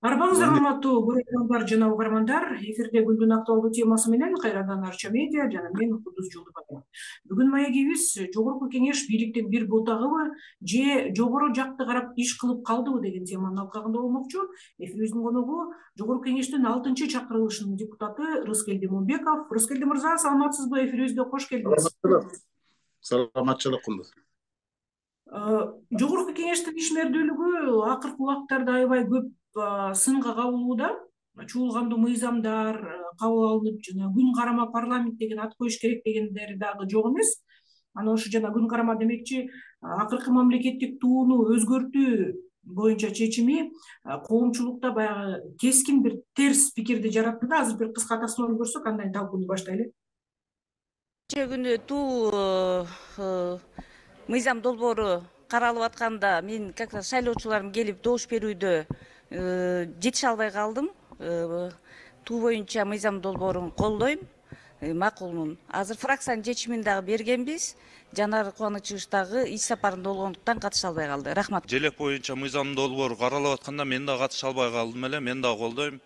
Арбаңыздар урматтуу көрөрмандар жана угармандар, эфирде күндүн актуалдуу темасы менен кайрадан Арча медиа жана мен Кудус Жолдубаева. Бүгүн маегибиз жогорку кеңеш бийликтин бир бутагыбы же жогору жакты карап иш кылып калдыбы деген теманын алкагында болмокчу. Эфирибиздин коногу жогорку кеңештин 6 чакырылышынын депутаты Рыскелди Момбеков. Рыскелди мырза, саламатсызбы? Эфирибизге кош келдиңиз. Саламатчылык Кудус. Жогорку кеңештин ишмердүүлүгү акыркы убактарда аябай көп сынга кабылууда. Чуулгандуу мыйзамдар кабыл алынып, жана күн карама парламент деген ат коюш керек дегендери дагы жок эмес. Анан ошо жана күн карама демекчи, акыркы мамлекеттик тууну өзгөртүү боюнча чечими коомчулукта баягы кескин бир терс пикирди жаратты да. Азыр бир кыска таснолуу көрсөк, андан талкууну баштайлы. Кечээ күнү туу мыйзам долбоору каралып атканда мен как раз шайлоочуларым келип добуш берүүдө жетише албай калдым. Туу боюнча мыйзам долбоорун колдойм, макулмун. Азыр фракциянын чечимин дагы бергенбиз. Жанар Кубанычыбыз дагы иш сапарында болгондуктан катыша албай калды. Рахмат. Желек боюнча мыйзам долбоору каралып атканда мен дагы катыша албай калдым эле. Мен дагы колдойм.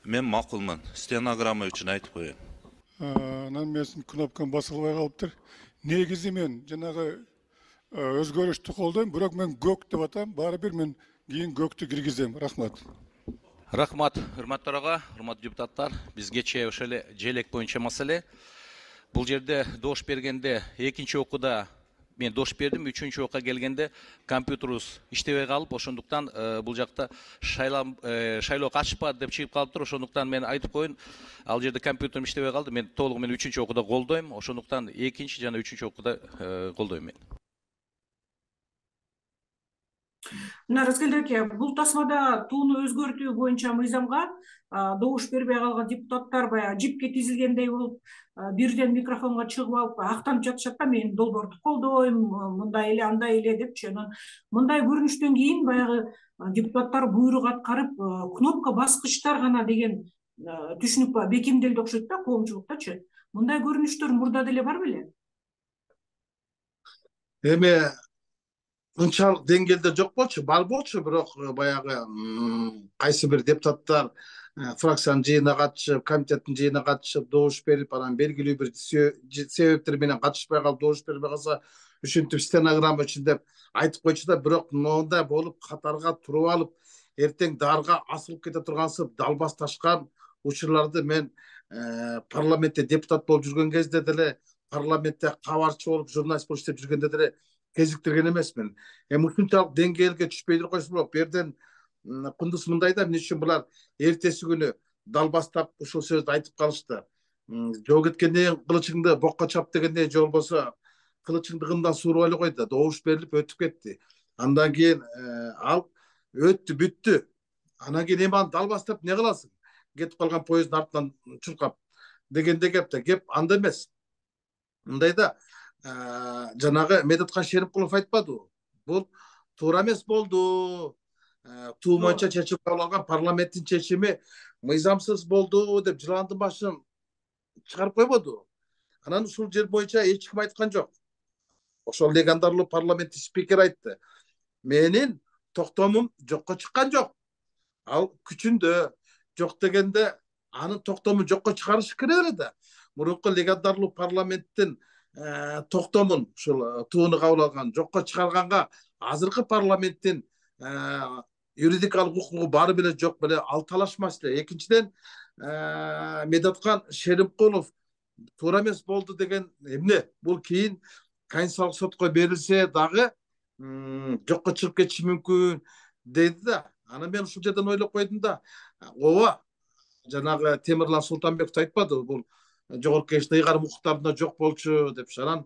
Мен макулмун. Стенограмма үчүн айтып коеюн. Анан менин кнопкам басылбай калыптыр. Негизи мен жанагы өзгөрүштү колдойм, бирок мен көк деп атам. Баары бир мен кийин көктү киргизем. Рахмат. Рахмат, урматтуу ага, урматтуу депутаттар. Биз кечээ ошол эле желек боюнча маселе. Бул жерде добуш бергенде экинчи окууда мен добуш бердим, үчүнчү окуга келгенде компьютерибиз иштебей калып, ошондуктан бул жакта шайлоо катышпады деп чыгып калыптыр. Ошондуктан мен айтып коеюн, ал жерде компьютерим иштебей калды. Мен толук менен үчүнчү окууда колдойм. Ошондуктан экинчи жана үчүнчү окууда колдойм мен. Мына Рыскелди аке, бул тасмада тууну өзгөртүү боюнча мыйзамга добуш бербей калган депутаттар баягы жипке тизилгендей болуп, бирден микрофонго чыгып алып актанып жатышат да, мен долбоорду колдойм, мындай эле андай эле депчи. Анан мындай көрүнүштөн кийин баягы депутаттар буйрук аткарып, кнопка баскычтар гана деген түшүнүк бекемделди окшойт да коомчулуктачы. Мындай көрүнүштөр мурда деле бар беле? Эми ынчалык деңгээлде жок болчу, бар болчу, бирок баягы кайсы бир депутаттар фракциянын жыйынына катышып, комитеттин жыйынына катышып, добуш берип, анан белгилүү бир себептер менен катышпай калып, добуш бербей калса, ушинтип стенограмма үчүн деп айтып койчу да, бирок мондай болуп катарга туруп алып, эртең дарга асылып кете тургансып далбас ташкан учурларды мен парламентте депутат болуп жүргөн кезде деле, парламентте кабарчы болуп, журналист болуп иштеп жүргөндө деле кезиктирген эмесмин. Ушунчалык деңгээлге түшпөйдүр койсо болот. Бу жерден Кундуз мындай да, эмне үчүн булар эртеси күнү далбастап ушул сөздү айтып калышты. Жол кеткенден кылычыңды бокко чап дегендей, же болбосо кылычыңды кымдан сууруп эле кой да, добуш берилип өтүп кетти. Андан кийин ал өттү, бүттү. Анан кийин эми аны далбастап эмне кыласың? Кетип калган поезддин артынан чуркап дегенде кеп да, кеп анда эмес. Мындайда жанагы Медеткан Шеримкулов айтпадыбы? Бул туура эмес болду. Туу боюнча чечим кабыл алган парламенттин чечими мыйзамсыз болду деп жыландын башын чыгарып койбоду. Анан ушул жер боюнча эч ким айткан жок. Ошол легендардуу парламенттик спикер айтты. Менин токтомум жокко чыккан жок. Ал күчүндө жок дегенде анын токтому жокко чыгарыш керек эле да. Мурунку легендардуу парламенттин токтомун ушул тууну кабыл алган жокко чыгарганга азыркы парламенттин юридикалык укугу баары беле жок беле, ал талаш маселе. Экинчиден, Медеткан Шеримкулов туура эмес болду деген эмне? Бул кийин Конституциялык сотко берилсе дагы жокко чыгып кетиши мүмкүн деди да. Анан мен ушул жерден ойлоп койдум да, ооба, жанагы Темирлан Султанбеков айтпадыбы, бул жогорку кеңештин ыйгарым укуктарында жок болчу депчи. Анан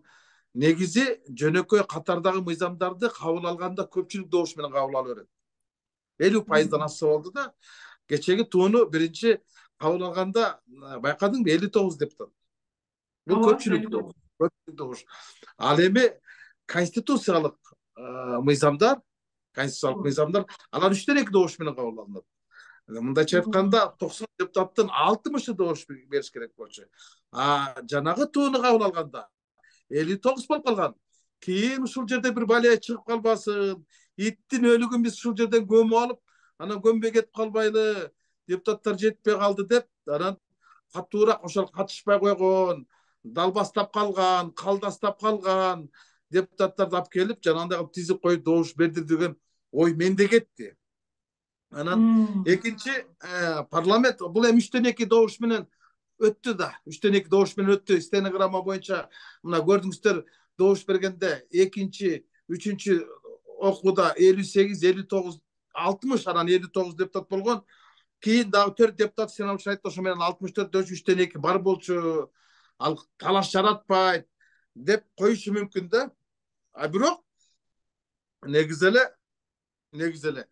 негизи жөнөкөй катардагы мыйзамдарды кабыл алганда көпчүлүк добуш менен кабыл ала берет. 50% ашса болду да. Кечеги тууну биринчи кабыл алганда байкадыңбы, 59 депутат. Бул көпчүлүк добуш. Ал эми конституциялык мыйзамдар, алар 3-төн 2 добуш менен кабыл алынат. Мындайча айтканда 90 депутаттын 60-ы добуш бериш керек болчу. Жанагы тууну кабыл алганда 59 болуп калган. Кийин ушул жерде бир балия чыгып калбасын, иттин өлүгүн биз ушул жерден көмүп алып, анан көмбөй кетип калбайлы, депутаттар жетпей калды деп, анан катуураак ошол катышпай койгон, далбастап калган, калдастап калган депутаттарды алып келип, жанагындай кылып тизип коюп добуш берди деген ой менде кетти. Анан экинчи парламент бул эми 3-2 добуш менен өттү да. 3-2 добуш менен өттү. Стенограмма боюнча мына көрдүңүздөр, добуш бергенде экинчи, үчүнчү окууда 58, 59, 60, анан 59 депутат болгон. Кийин дагы 4 депутат сенат айтты, ошо менен 64 3-2 бар болчу. Ал талаш жаратпайт деп коюшу мүмкүн да. А бирок негизи эле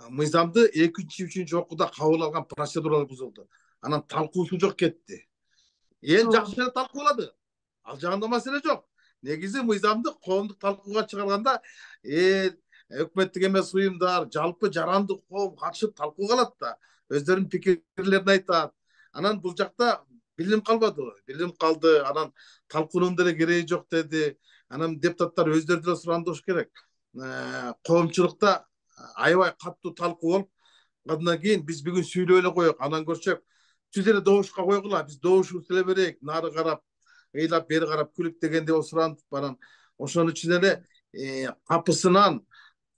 мыйзамды 2-3 окууда кабыл алган процедуралар бузулду. Анан талкуусу жок кетти. Эл жакшы эле талкуулады. Ал жагында маселе жок. Негизи мыйзамды коомдук талкууга чыгарганда өкмөттүк эмес уюмдар, жалпы жарандык коом катышып талкууга алат да, өздөрүнүн пикирлерин айтат. Анан бул жакта билим калбады. Билим калды. Анан талкуунун деле кереги жок деди. Анан депутаттар өздөрү деле сурандыш керек. Коомчулукта аябай катуу талкуу болуп, андан кийин биз бүгүн сүйлөй эле коелук, анан көрсөк түз эле добушка койгула, биз добушубузду эле берейик, нары карап, ыйлап, бери карап күлүп дегенде болуп сурантып барам. Ошон үчүн эле капысынан,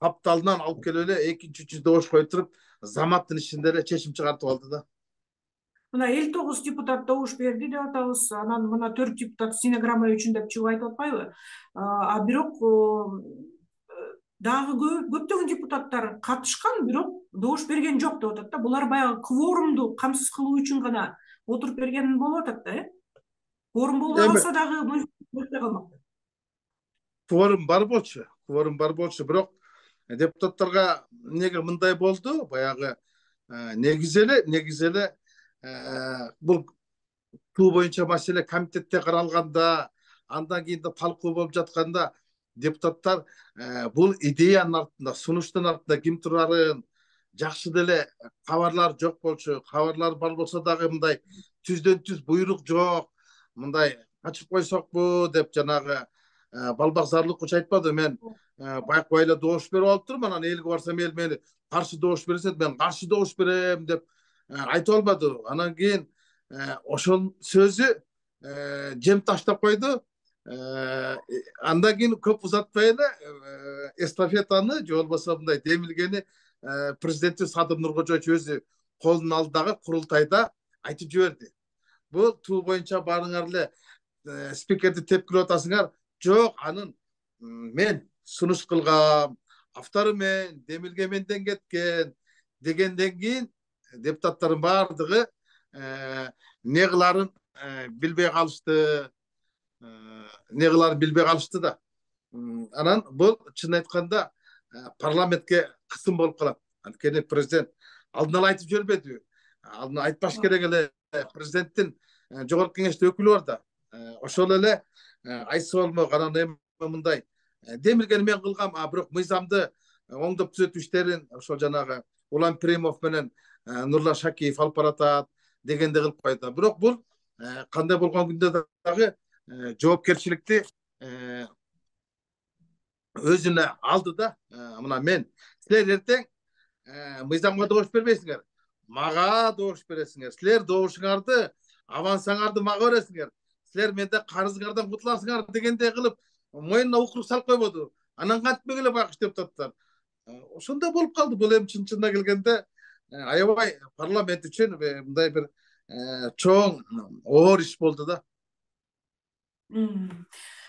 капталынан алып келип эле экинчи, үчүнчү добуш коюп туруп, заматтын ичинде эле чечим чыгартып алды да. Мына 59 депутат добуш берди деп атабыз. Анан мына 4 депутат стенограмма үчүн деп чыгып айтып атпайбы? А бирок дагы көптөгөн депутаттар катышкан, бирок добуш берген жок деп атат да. Булар баягы кворумду камсыз кылуу үчүн гана отуруп берген болуп атат да, Кворум болбой калса дагы өтпөй калмак. Кворум бар болчу, бирок депутаттарга эмнеге мындай болду? Баягы негизи эле бул туу боюнча маселе комитетте каралганда, андан кийин да талкуу болуп жатканда депутаттар бул идеянын артында, сунуштун артында ким турарын, жакшы деле кабарлар жок болчу. Кабарлар бар болсо дагы мындай түздөн түз буйрук жок, мындай ачып койсокпу деп жанагы балбак зарлыкчу айтпады. Мен байкабай эле добуш берип алып турмун, анан элге барсам эл мени каршы добуш берсе, мен каршы добуш берем деп айтып албады. Анан кийин ошол сөзү жем таштап койду. Андан кийин көп узатпай эле эстафетаны же болбосо мындай демилгени президенти Садыр Нуркожоевич өзү колунун алдындагы курултайда айтып жиберди. Бул туу боюнча баарыңар эле спикерди тепкилеп атасыңар. Жок, анын мен сунуш кылгам, автору мен, демилге менден кеткен дегенден кийин депутаттардын баардыгы эмне кыларын билбей калышты да. Анан бул чын айтканда парламентке кысым болуп калат. Анткени президент алдын ала айтып жибербедиби? Алдын айтпаш керек эле. Президенттин жогорку кеңеште өкүлү бар да. Ошол эле айтса болмок. Анан эми мындай демилгени мен кылгам, бирок мыйзамды оңдоп түзөтүү иштерин ошол жанагы Улан Пиримов менен Нурлан Шакиев алып баратат дегенде кылып койду. Бирок бул кандай болгон күндө дагы жоопкерчиликти өзүнө алды да. Мына мен, силер эртең мыйзамга добуш бербейсиңер, мага добуш бересиңер. Силер добушуңарды, авансыңарды мага бересиңер. Силер менде карызыңардан кутуласыңар дегенде кылып мойнуна укурук салып койбоду. Анан кантпек эле байкуш депутаттар. Ошондой болуп калды. Бул эми чынына келгенде аябай парламент үчүн мындай бир чоң оор иш болду да.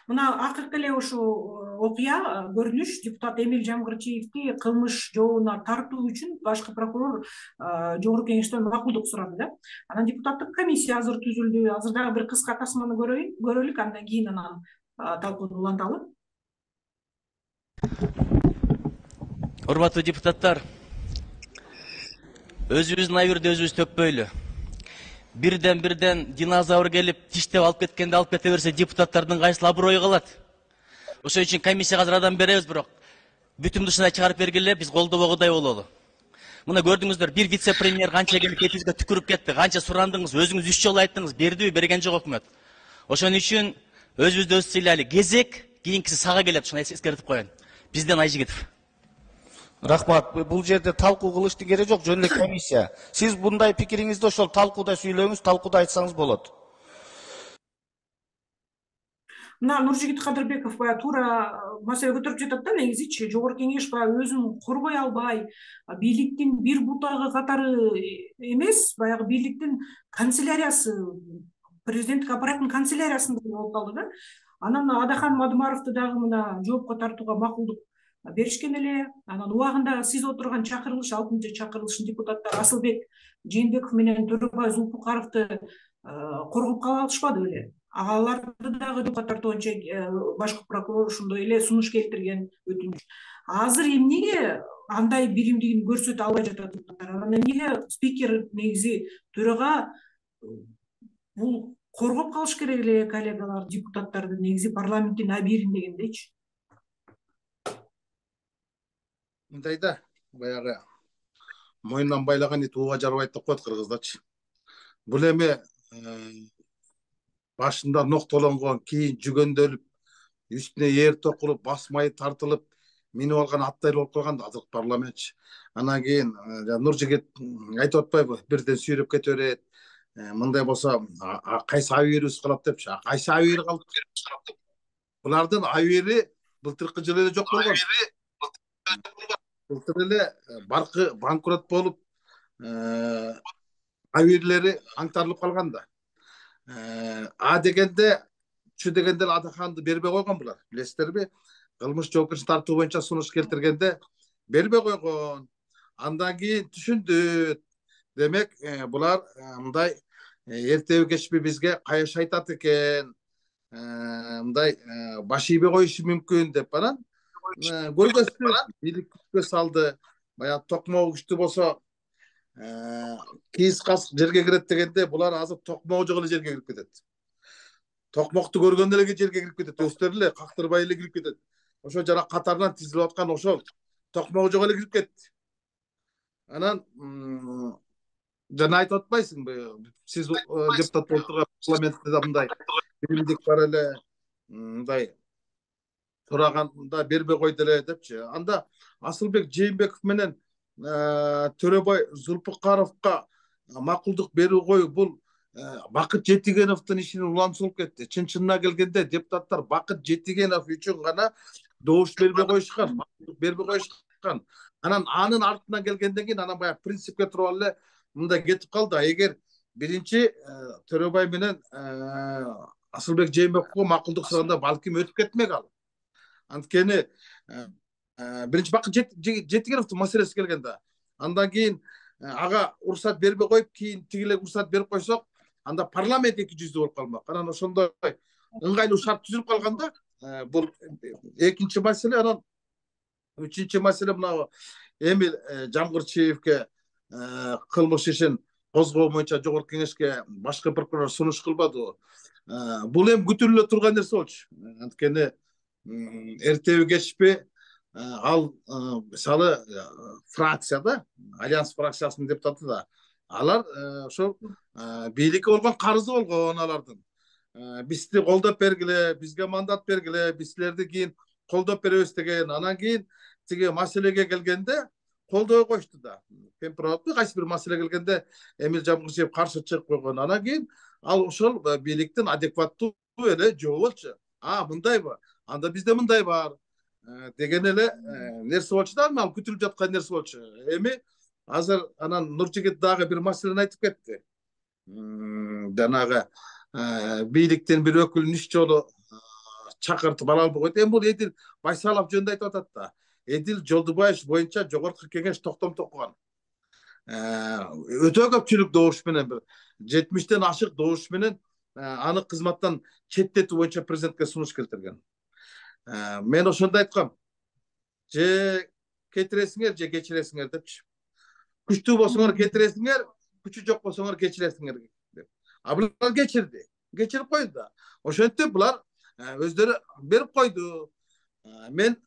Мына акыркы эле ушул окуя, көрүнүш депутат Эмил Жамгырчиевди кылмыш жообуна тартуу үчүн башкы прокурор жогорку кеңештен макулдук сурады да. Анан депутаттык комиссия азыр түзүлдү. Азыр дагы бир кыска тасманы көрөлүк, андан кийин анан талкууну уланталы. Урматтуу депутаттар, өзүбүздүн айырды өзүбүз төкпөйлү. Бирден динозавр келип тиштеп алып кеткенде алып кете берсе, депутаттардын кайсыл аброю калат? Ошон үчүн комиссияга азыр адам беребиз, бирок бүтүн душына чыгарып бергиле, биз колдобогудай бололу. Мына көрдүңүздөр, бир вице-премьер канча келип кетибизге түкүрүп кетти. Канча сурандыңыз, өзүңүз 3 жолу айттыңыз, бердиби, берген жок өкмөт. Ошон үчүн өзүбүздү өзүбүз сыйлайлы. Кезек кийинкиси сага келет, ушуну эскертип коеюн. Бизден Айжигитов. Рахмат. Бул жерде талкуу кылыштын кереги жок, жөн эле комиссия. Сиз мындай пикириңизди ошол талкууда сүйлөңүз, талкууда айтсаңыз болот. Мына Нуржигит Кадырбеков баягы туура маселе көтөрүп жатат да, негизичи жогорку кеңеш баягы өзүн коргой албай, бийликтин бир бутагы катары эмес, баягы бийликтин канцеляриясы, президенттик аппараттын канцеляриясында болуп калды да. Анан Адахан Мадумаровду дагы мына жоопко тартууга макулдук беришкен эле. Анан убагында сиз отурган чакырылыш, 6-чы чакырылыштын депутаттары Асылбек Жээнбеков менен Төрөбай Зулпукаровду коргоп кала алышпады беле? Аларды дагы жоопко тартуу боюнча башкы прокурор ошондой эле сунуш келтирген, өтүнүч. Азыр эмнеге андай биримдигин көрсөтө албай жатат депутаттар? Анан эмнеге спикер негизи төрага бул коргоп калыш керек эле коллегалар, депутаттарды негизи парламенттин абийирин дегендейчи? Мындай да, баягы мойнунан байлаган ит ууга жарбайт деп коет кыргыздачы. Бул эми башында ноктолонгон, кийин жүгөндөлүп, үстүнө ээр токулуп, басмайы тартылып, минип алган аттай болуп калган да азыркы парламентчи. Анан кийин Нуржигит айтып атпайбы, бирден сүйрөп кете берет. Мындай болсо кайсы абийирибиз калат депчи. Кайсы абийир калып? Булардын абийири былтыркы жылы эле жок болгон. Былтыр эле баркы банкрот болуп, абийирлери аңтарылып калган да. Дегенде, чү дегенде Адаханды бербей койгон булар. Билесиздерби? Кылмыш жоопкерчиликке тартуу боюнча сунуш келтиргенде бербей койгон. Андан кийин түшүндү. Демек, булар мындай эртеби кечпи бизге каяш айтат экен, мындай баш ийбей коюшу мүмкүн деп анан көргөздү, бийликке салды. Баягы токмогу күчтүү болсо кийиз касык жерге кирет дегенде, булар азыр токмогу жок эле жерге кирип кетет. Токмокту көргөндө эле жерге кирип кетет, өздөрү эле кактырбай эле кирип кетет. Ошо жана катарынан тизилип аткан ошол токмогу жок эле кирип кетти. Анан жана айтып атпайсыңбы, сиз депутат болуп турган парламентте да мындай биримдик бар эле, мындай сураганда бербей койду эле депчи. Анда Асылбек Жээнбеков менен Төрөбай Зулпукаровго макулдук берүү коюу бул Бакыт Жетигеновдун ишинин уланчысы болуп кетти. Чын-чынына келгенде депутаттар Бакыт Жетигенов үчүн гана добуш бербей коюшкан, бербей коюшкан. Анан анын артынан келгенден кийин анан баягы принципке туруп эле мындай кетип калды. Эгер биринчи Төрөбай менен Асылбек Жээнбековго макулдук сураганда балким өтүп кетмек ал. Анткени биринчи Бакыт Жетигеновдун маселеси келгенде, андан кийин ага уруксат бербей коюп, кийин тигиле уруксат берип койсок, анда парламент эки жүздүү болуп калмак. Анан ошондой ыңгайлуу шарт түзүлүп калганда, бул экинчи маселе. Анан үчүнчү маселе мына Эмил Жамгырчиевге кылмыш ишин козгоо боюнча жогорку кеңешке башкы прокурор сунуш кылбадыбы? Бул эми күтүлүп эле турган нерсе болчу. Анткени эртеби кечпи ал мисалы фракцияда, Альянс фракциясынын депутаты да, алар ошол бийликке болгон карызы болгон алардын. Бизди колдоп бергиле, бизге мандат бергиле, биз силерди кийин колдоп беребиз деген. Анан кийин тиги маселеге келгенде колдой коюшту да. Темпиратура кайсы бир маселе келгенде Эмил Жамгырчиев каршы чыгып койгон. Анан кийин ал ошол бийликтин адекваттуу эле жообу болчу. Мындайбы? Анда бизде мындай бар деген эле нерсе болчу да, ал күтүлүп жаткан нерсе болчу. Эми азыр анан Нуржигит дагы бир маселени айтып кетти. Жанагы бийликтин бир өкүлүн үч жолу чакыртып ала албай койду. Эми бул Эдил Байсалов жөнүндө айтып атат да. Эдил Жолдубаев боюнча жогорку кеңеш токтом токуган. Өтө көпчүлүк добуш менен, бир 70тен ашык добуш менен аны кызматтан четтетүү боюнча президентке сунуш келтирген. Мен ошондо айткам, же кетиресиңер, же кечиресиңер депчи. Күчтүү болсоңор кетиресиңер, күчү жок болсоңор кечиресиңер деп. Булар кечирди, кечирип койду да. Ошентип булар өздөрү берип койду. Мен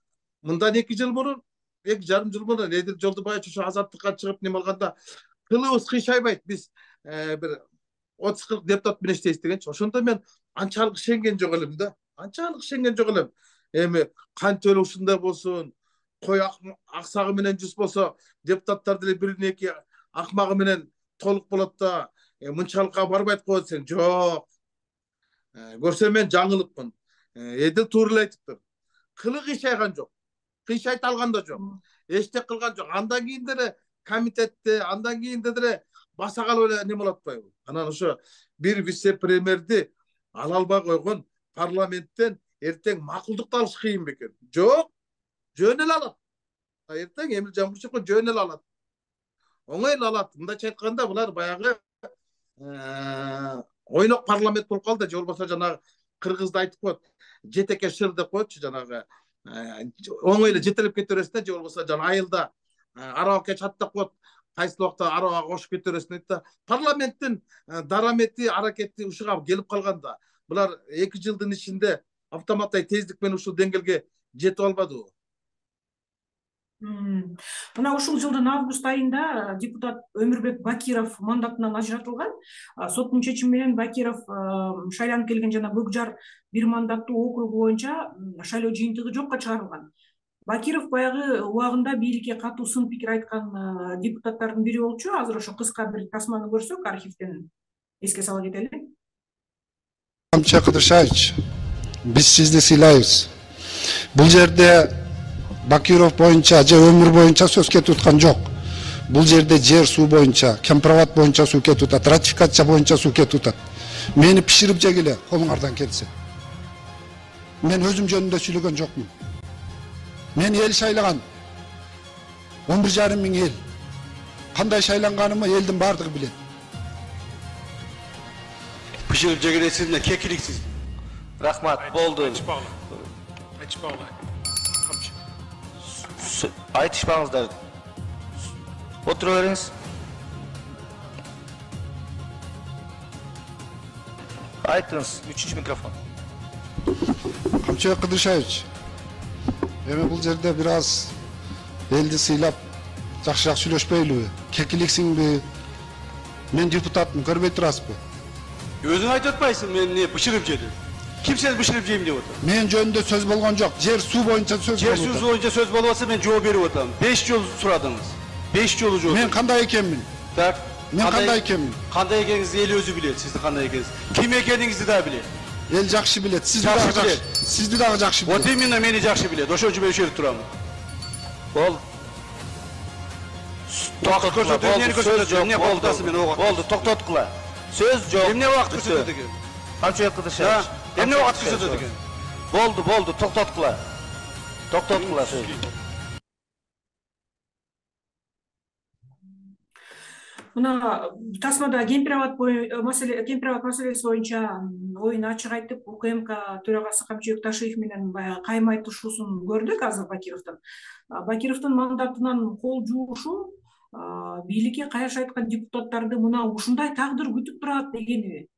мындан 2 жыл мурун, 2,5 жыл мурун Эдил Жолдубаев ошо азаттыкка чыгып нем алганда кылыбыз кыйшайбайт, биз бир 30-40 депутат менен иштейбиз дегенчи. Ошондо мен анчалык ишенген жок элем да. Анчалык ишенген жок элем. Эми кантип эле ушундай болсун, кой аксагы менен жүз болсо депутаттар деле бирин эки акмагы менен толук болот да мынчалыкка барбайт го десең жок. Көрсөм мен жаңылыпмын. Эдил туура эле айтыптыр. Кылы кыйшайган жок. Кыйшайта алган да жок. Эчтек кылган жок. Андан кийин деле комитетте, андан кийин деле баса калып эле неме болот атпайбы? Анан ошо бир вице-премьерди ала албай койгон парламенттен эртең макулдукту алыш кыйын бекен. Жок, жөн эле алат. Эртең Эмил Жамбушевко жөн эле алат. Оңой эле алат. Мындайча айтканда булар баягы ойнок парламент болуп калды. Же болбосо жанагы кыргызда айтып коет, жетеке шыр деп коетчу, жанагы оңой эле жетелеп кете бересиң, же болбосо жана айылда арабакка чаттап коет, кайсы убакта арабага кошуп кете бересиң дейт да. Парламенттин дарамети, аракети ушуга келип калганда, булар 2 жылдын ичинде автоматтай тездик менен ушул деңгээлге жетип албадыбы? Мына ушул жылдын август айында депутат Өмүрбек Бакиров мандатынан ажыратылган. Соттун чечими менен Бакиров шайланып келген жана Көкжар бир мандаттуу округу боюнча шайлоо жыйынтыгы жокко чыгарылган. Бакиров баягы убагында бийликке катуу сын пикир айткан депутаттардын бири болчу. Азыр ошо кыска бир тасманы көрсөк, архивден эске сала кетели. Камча Кыдыршаевич, биз сизди сыйлайбыз. Бул жерде Бакиров боюнча же өмүр боюнча сөз кетип аткан жок. Бул жерде жер суу боюнча, кемпироват боюнча суу кетип атат, ратификация боюнча суу кетип атат. Мени пиширип жегиле, колуңардан келсе. Мен өзүм жөнүндө сүйлөгөн жокмун. Мени эл шайлаган. 11,5 миң эл. Кандай шайланганымы элдин бардыгы билет. Пиширип жегилесиз эмне кекиликсиз. Рахмат, болду. Айтышпаңыздар. Отура бериңиз. Айтыңыз, 3-чү микрофон. Камча Кыдыршаевич, эми бул жерде бир аз элди сыйлап, жакшыраак сүйлөшпөйлүбү? Кекиликсиңби? Мен депутатмын, көрбөй турасызбы? Өзүң айтып атпайсың, мен эмне бышырып жедим. Ким сени бышырып жейм деп атат? Мен жөнүндө сөз болгон жок. Жер суу боюнча сөз болуп атат. Жер суу боюнча сөз болуп атса мен жооп берип атам. 5 жолу сурадыңыз. 5 жолу жооп. Мен кандай экенмин? Так. Мен кандай экенмин? Кандай экениңизди эл өзү билет, сиздин кандай экениңизди. Ким экениңизди да билет. Эл жакшы билет, сизди дагы жакшы билет. Вот именно мени жакшы билет. Ошон үчүн мен ошол жерде турам. Бол. Токтот көрсөтүү, эмнени көрсөтөт? Эмне болду мен ого? Болду, токтоткула. Сөз жок. Эмне убакыт көрсөтөт экен? Камча Кыдыршаевич. Эмне убакыт көрсөтөт экен? Болду, токтоткула. Токтоткула сөз. Мына тасмада кемпироват маселеси боюнча оюн ачык айтып, УКМК төрагасы Камчыбек Ташиев менен баягы кайым айтышуусун көрдүк азыр Бакировдон. Бакировдун мандатынан кол жуушу бийликке кайшы айткан депутаттарды мына ушундай тагдыр күтүп турат дегениби?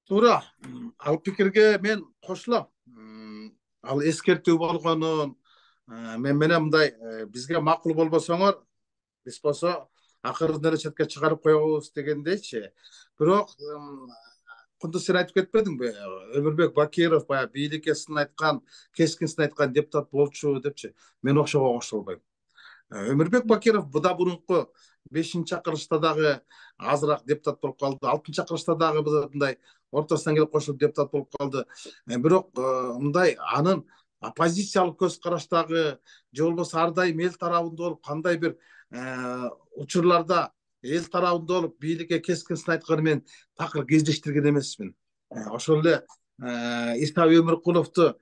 Туура. Ал пикирге мен кошулам. Ал эскертүү болгонун мен менен мындай бизге макул болбосоңор, биз болсо акырын эле четке чыгарып коебуз дегендейчи. Бирок Кундуз сен айтып кетпедиңби? Өмүрбек Бакиров баягы бийликке сын айткан, кескин сын айткан депутат болчу депчи. Мен ошого кошулбайм. Өмүрбек Бакиров буда мурунку 5-чакырылышта дагы азыраак депутат болуп калды. 6-чакырылышта дагы мындай ортосунан келип кошулуп депутат болуп калды. Бирок мындай анын оппозициялык көз караштагы же болбосо ар дайым эл тарабында болуп, кандай бир учурларда эл тарабында болуп бийликке кескин сын айтканы мен такыр кездештирген эмесмин. Ошол эле Иса Өмүркуловду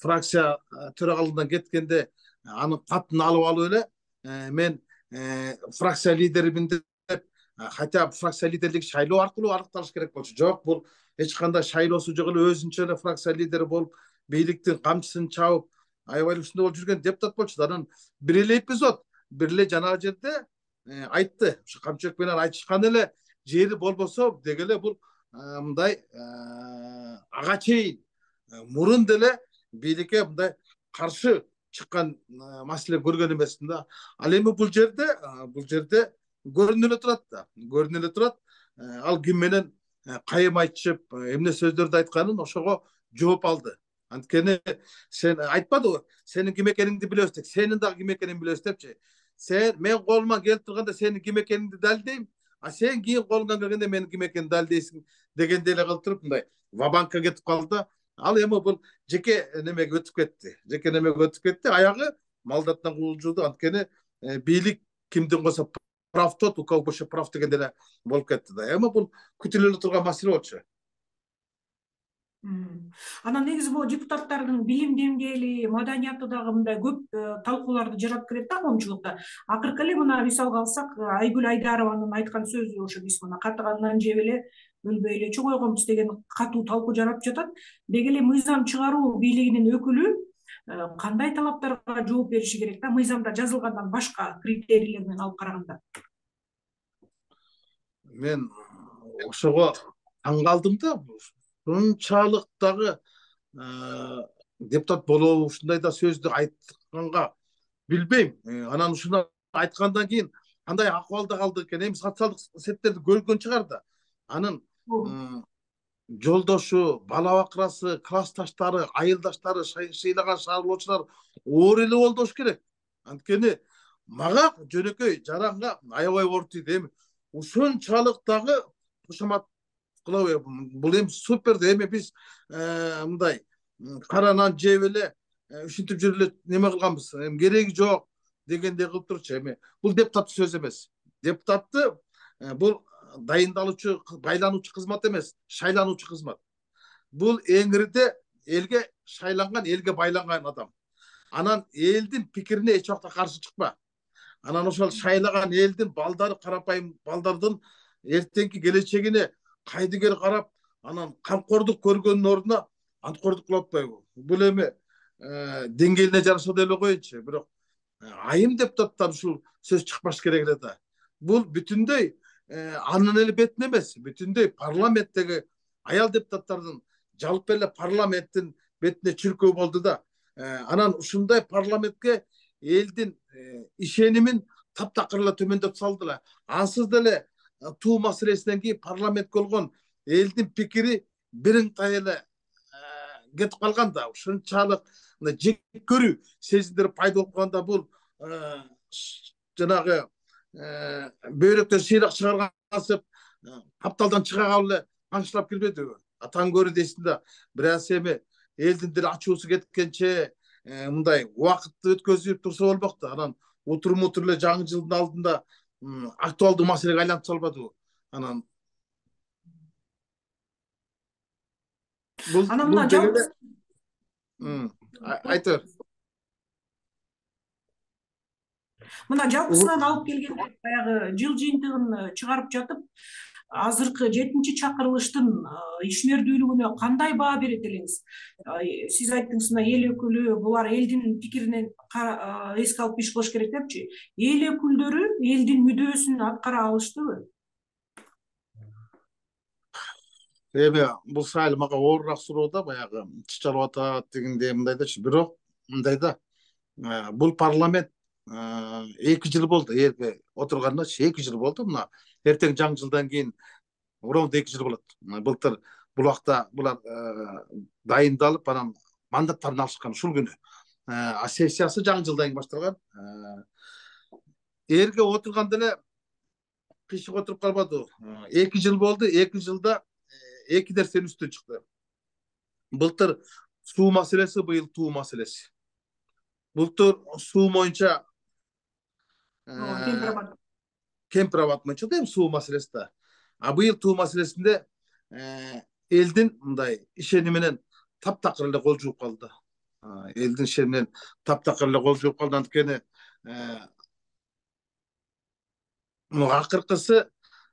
фракция төрагалыгынан кеткенде анын катын алып эле мен фракция лидеримин деп, хотя фракция лидерлиги шайлоо аркылуу аныкталыш керек болчу. Жок, бул эч кандай шайлоосу жок эле өзүнчө эле фракция лидери болуп, бийликтин камчысын чабып, аябай ушундай болуп жүрген депутат болчу. Анан бир эле эпизод, бир эле жанагы жерде айтты. Ушу Камчыбек менен айтышкан эле жери болбосо деги эле бул мындай ага чейин мурун деле бийликке мындай каршы чыккан маселе көргөн эмесмин да. Ал эми бул жерде көрүнүп эле турат да. Көрүнүп эле турат. Ал ким менен кайым айтышып, эмне сөздөрдү айтканын ошого жооп алды. Анткени сен айтпадыбы, сенин ким экениңди билебиз деп, сенин дагы ким экениңди билебиз депчи. Мен колума келип турганда сенин ким экениңди далилдейм, а сен кийин колуңдан келгенде менин ким экениmin далилдейсиң дегендей эле кылып туруп мындай вабанкка кетип калды. Ал эми бул жеке немеге өтүп кетти. Жеке немеге өтүп кетти. Аягы малдаттан куулжуду. Анткени бийлик кимдин койсо прав тот, у кого больше прав дегенде эле болуп кетти да. Эми бул күтүлө эле турган маселе болчу. Анан негизи бул депутаттардын билим деңгээли, маданияты дагы мындай көп талкууларды жаратып келет да коомчулукта. Акыркы эле мына мисалга алсак, Айгүл Айдарованын айткан сөзү ошо биз мына катыгандан жеп эле өлбөй эле чоңойгонбуз деген катуу талкуу жаратып жатат. Деги эле мыйзам чыгаруу бийлигинин өкүлү кандай талаптарга жооп бериши керек да, мыйзамда жазылгандан башка критерийлер менен алып караганда? Мен ошого таң калдым да. Ушунчалык дагы депутат болобу ушундай да сөздү айтканга билбейм. Анан ушуну айткандан кийин кандай акыбалда калды экен? Эми социалдык сеттерди көргөн чыгар да. Анын жолдошу, бала бакырасы, классташтары, айылдаштары, шыйлаган шаарлоочулар оор эле болду болуш керек. Анткени мага жөнөкөй жаранга аябай оор тийди. Эми ушунчалык дагы кошомат кылабы? Бул эми супер да. Эми биз мындай кара нан жеп эле ушинтип жүрүп эле неме кылганбыз. Эми кереги жок дегендей кылып турчу. Эми бул депутаттын сөзү эмес. Депутатты бул дайындалуучу, байлануучу кызмат эмес, шайлануучу кызмат. Бул эңирде элге шайланган, элге байланган адам. Анан элдин пикирине эч убакта каршы чыкпа. Анан ошол шайлаган элдин балдары, карапайым балдардын эртеңки келечегине кайдыгер карап, анан камкордук көргөндүн ордуна анткордук кылып атпайбы? Бул эми деңгээлине жараша деле коеюнчу. Бирок айым депутаттар ушул сөз чыкпаш керек эле да. Бул бүтүндөй анын эле бетине эмес, бүтүндөй парламенттеги аял депутаттардын жалпы эле парламенттин бетине чүркөө болду да. Анан ушундай парламентке элдин ишенимин таптакыр эле төмөндөтүп салды эле. Ансыз деле туу маселесинен кийин парламентке болгон элдин пикири биринтай эле кетип калган да. Ушунчалык жек көрүү сезимдери пайда болуп калганда бул жанагы бөйрөктөн сыйрак чыгаргансып капталдан чыга калып эле аңчылап келбедиби? Атаң көрү дейсиң да. Бираз эми элдин деле ачуусу кеткенче мындай убакытты өткөзүп турса болмок да. Анан утур эле жаңы жылдын алдында актуалдуу маселеге айлантып салбадыбы? Анан бул дегенде айта бер. Мына жалпысынан алып келгенде баягы жыл жыйынтыгын чыгарып жатып, азыркы 7-чи чакырылыштын ишмердүүлүгүнө кандай баа берет элеңиз? Сиз айттыңыз, мына эл өкүлү булар элдин пикиринен эске алып иш кылыш керек депчи. Эл өкүлдөрү элдин мүдөөсүн аткара алыштыбы? Эми бул сайыл мага оорураак суроо да, баягы чычалып атат дегендей мындай дачы. Бирок мындай да, бул парламент 2 жыл болду, элге отурганычы 2 жыл болду. Мына эртең жаңы жылдан кийин ровно 2 жыл болот. Былтыр бул убакта булар дайындалып, анан мандаттарын алышкан ушул күнү. А сессиясы жаңы жылдан кийин башталган. Элге отурганда эле кышык отуруп калбады. 2 жыл болду. 2 жылда 2 нерсенин үстүнө чыкты. Былтыр суу маселеси, быйыл туу маселеси. Былтыр суу боюнча Кемпирабад боюнча да суу маселеси да. А быйыл туу маселесинде элдин мындай ишени менен таптакыр эле кол жууп калды. Элдин ишенинен таптакыр эле кол жууп калды. Анткени акыркысы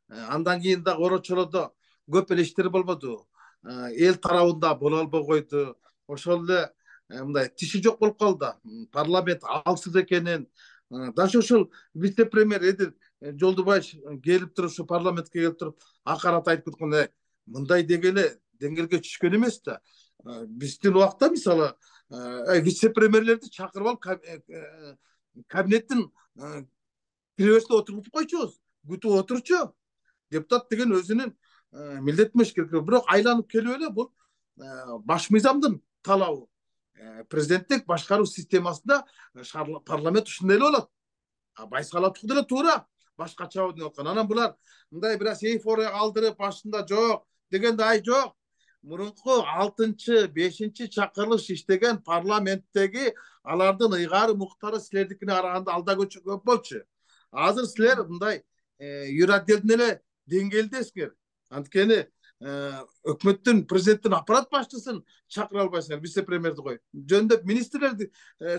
андан кийин да орочолодо көп эле иштер болбоду. Эл тарабында боло албай койду. Ошол эле мындай тиши жок болуп калды. Парламент алсыз экенин, даже ушул вице-премьер Эдил Жолдубаев келип туруп, ушу парламентке келип туруп, акарат айтып кеткөн, мындай дегеле деңгээлге түшкөн эмес да. Биздин убакта мисалы вице-премьерлерди чакырып алып кабинеттин киребесине отургузуп койчубуз. Күтүп отурчу. Депутат деген өзүнүн милдети эмес керек. Бирок айланып келип эле бул баш мыйзамдын талабы. Президенттик башкаруу системасында парламент ушундай эле болот. Байсалаттык деле туура, башкача деп аткан. Анан булар мындай бир аз эйфория калтырып, башында жок дегенде ай жок. Мурунку 6-5 чакырылыш иштеген парламенттеги алардын ыйгары муктары силердикине караганда алда көчө көп болчу. Азыр силер мындай юротделдин эле деңгээлдесиңер. Анткени өкмөттүн, президенттин аппарат башчысын чакыра албайсыңар, вице-премьерди кой. Жөндөп министрлерди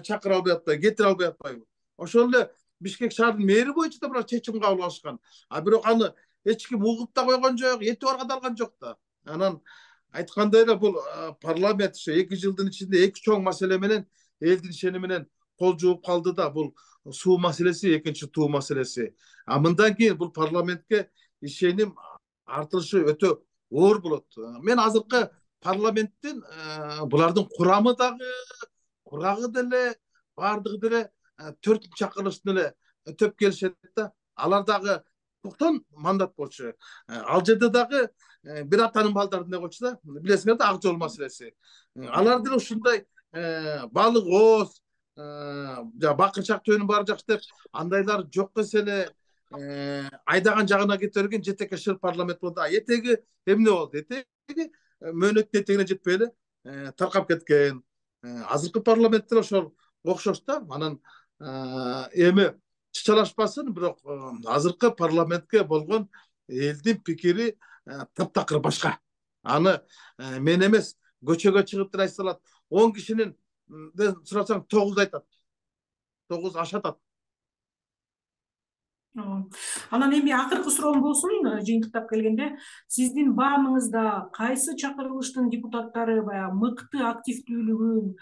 чакыра албай атпайбы, кетире албай атпайбы. Ошол эле Бишкек шаардын мэри боюнча да булар чечим кабыл алышкан. Бирок аны эч ким угуп да койгон жок, эти барга да алган жок да. Анан айткандай эле бул парламент 2 жылдын ичинде 2 чоң маселе менен элдин ишени менен кол жууп калды да. Бул суу маселеси, экинчи туу маселеси. Мындан кийин бул парламентке ишеним артылышы өтө оор болот. Мен азыркы парламенттин булардын курамы дагы, курагы деле, бардыгы деле 4 чакырылыштын эле төп келишет да. Алар дагы 90 мандат болчу. Ал жерде дагы бир атанын балдары эмне болчу да, билесиңер да, ак жол маселеси. Алар деле ушундай балык ооз, бакырчак төөнүн баары жакшы деп андайлар жок эсе эле айдаган жагына кете берген жетекке шыр парламент болду. Этеги эмне болду? Этеги мөөнөттүн этегине жетпей эле таркап кеткен. Азыркы парламенттер ошол окшош да. Анан эми чычалашпасын, бирок азыркы парламентке болгон элдин пикири таптакыр башка. Аны мен эмес, көчөгө чыгып деле айтса алат. 10 кишинин сурасаң 9 айтат. 9 ашатат. Анан эми акыркы суроом болсун, жыйынтыктап келгенде, сиздин баамыңызда кайсы чакырылыштын депутаттары баягы мыкты активдүүлүгүн,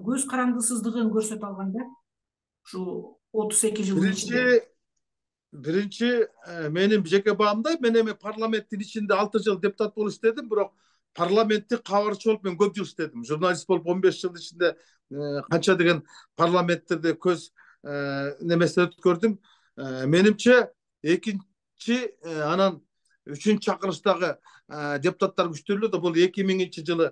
көз карандысыздыгын көрсөтө алган да? Ушу 32 жылдын ичинде. Биринчи менин жеке баамда, мен эми парламенттин ичинде 6 жыл депутат болуп иштедим, бирок парламенттик кабарчы болуп мен көп жыл иштедим. Журналист болуп 15 жыл ичинде канча деген парламенттерде көз немесин өткөрдүм. Менимче экинчи анан үчүнчү чакырыштагы депутаттар күчтүү да. Бул 2000 жылы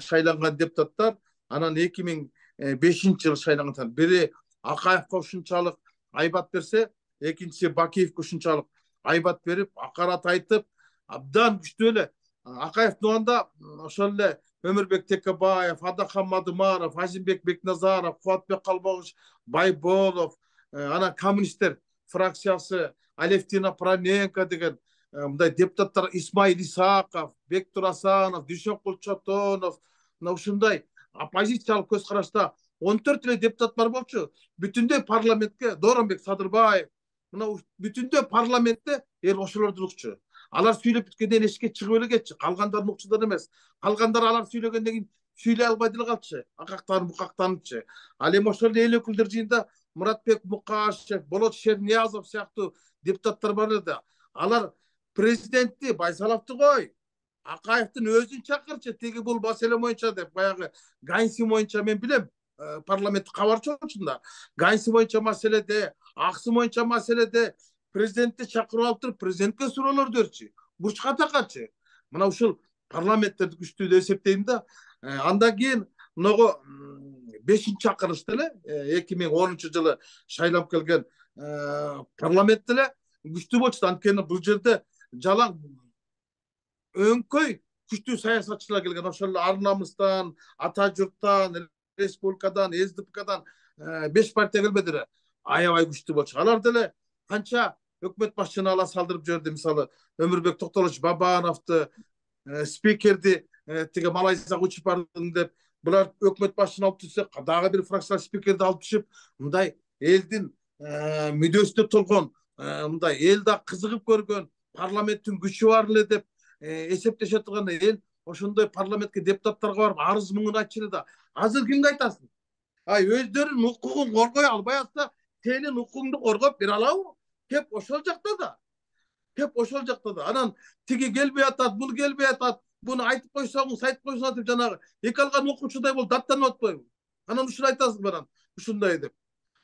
шайланган депутаттар, анан 2005 жылы шайланган. Бири Акаевге ушунчалык айбат берсе, экинчиси Бакиевге ушунчалык айбат берип, акарат айтып, абдан күчтүү эле. Акаевдин убагында ошол эле Өмүрбек Текебаев, Адахан Мадымаров, Азимбек Бекназаров, Кубатбек Калбогуш, Байболов, анан коммунисттер фракциясы, Алевтина Проненко деген мындай депутаттар, Исмаил Исаков, Бектур Асанов, Дүйшөнкул Чотонов, ушундай оппозициялык көз карашта 14 эле депутат бар болчу. Бүтүндөй парламентке Дооронбек Садырбаев, мына бүтүндөй парламентте ошолордун укчу. Алар сүйлөп бүткөндөн эшикке чыгып эле кетчи. Калгандардын укчудан эмес. Калгандар алар сүйлөгөндөн кийин сүйлөй албай деле калчу. Акактанып, букактанычы. Ал эми ошол эл өкүлдөр жыйында Муратбек Мукашев, Болот Шерниязов сыяктуу депутаттар бар эле. Алар президентти Байсаловду кой, Акаевдин өзүн чакырчы, тиги бул маселе боюнча деп, баягы Ганси боюнча мен билем, парламент кабарчы болчунда. Ганси боюнча маселеде, Аксы боюнча маселеде президентти чакырып алып туруп, президентке суроолор берчи, бурчка такачы. Мына ушул парламенттерди күчтүү деп эсептейм да. Андан кийин могу 5-чакырышта эле 2010 жылы шайлап келген парламент эле күчтүү болчу. Анткени бул жерде жалаң өңкөй күчтүү саясатчылар келген. Ошол Ар-намыстан, Ата журттан, республикадан, СДПКдан 5 партия келбеди эле. Аябай күчтүү болчу. Алар деле канча өкмөт башчыны ала салдырып жиберди. Мисалы Өмүрбек Токтолович Бабановду, спикерди тиги Малайзияга учуп бардым деп, булар өкмөт башчыны алып түшсө, дагы бир фракция спикерди алып түшүп, мындай элдин мүдөөсүнө толгон, мындай эл да кызыгып көргөн, парламенттин күчү бар эле деп эсептеше турган эл ошондой парламентке депутаттарга барып арыз муңун айтчу да. Азыр кимге айтасың? Өздөрүнүн укугун коргой албай атса, сенин укугуңду коргоп бере алабы? Кеп ошол жакта да. Анан тиги келбей атат, бул келбей атат. Буну айтып койсоңуз, айтып койсоңуз деп жанагы эки алган окуучудай болуп даттанып атпайбы? Анан ушуну айтасың анан ушундай деп.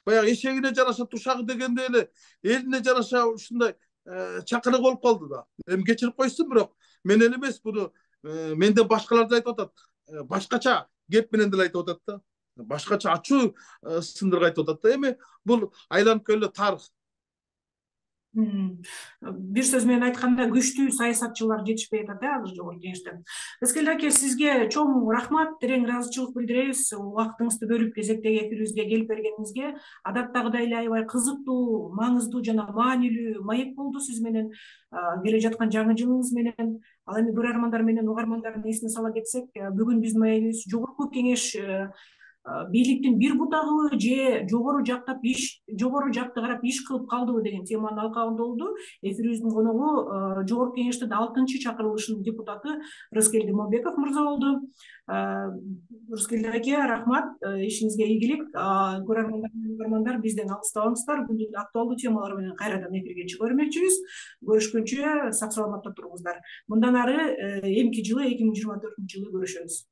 Баягы эшегине жараша тушагы дегендей эле элине жараша ушундай чакырык болуп калды да. Эми кечирип койсун, бирок мен эле эмес, буну менден башкалар да айтып атат. башкача кеп менен деле айтып атат да, башкача ачуу сындырга айтып атат да. Эми бул айланып келе тарых. Бир сөз менен айтканда күчтүү саясатчылар жетишпей атат азыр жогорку кеңештен. Рыскелди аке, сизге чоң рахмат, терең ыраазычылык билдиребиз. Убактыңызды бөлүп кезектеги эфирибизге келип бергениңизге. Адаттагыдай эле аябай кызыктуу, маңыздуу жана маанилүү маек болду сиз менен келе жаткан жаңы жылыңыз менен. Ал эми көрөрмандар менен угармандардын эсине сала кетсек, бүгүн биздин маегибиз жогорку кеңеш бийликтин бир бутагыбы же жогору жакты карап иш кылып калдыбы деген теманын алкагында болду. Эфирибиздин коногу жогорку кеңештин 6-чы чакырылышынын депутаты Рыскелди Момбеков мырза болду. Рыскелди аке, рахмат, ишиңизге ийгилик. Көрөрмандар бизден алыстабаңыздар. Бүгүн актуалдуу темалар менен кайрадан эфирге чыга бермекчибиз. Көрүшкөнчө сак саламатта туруңуздар. Мындан ары эмки жылы 2024 жылы көрүшөбүз.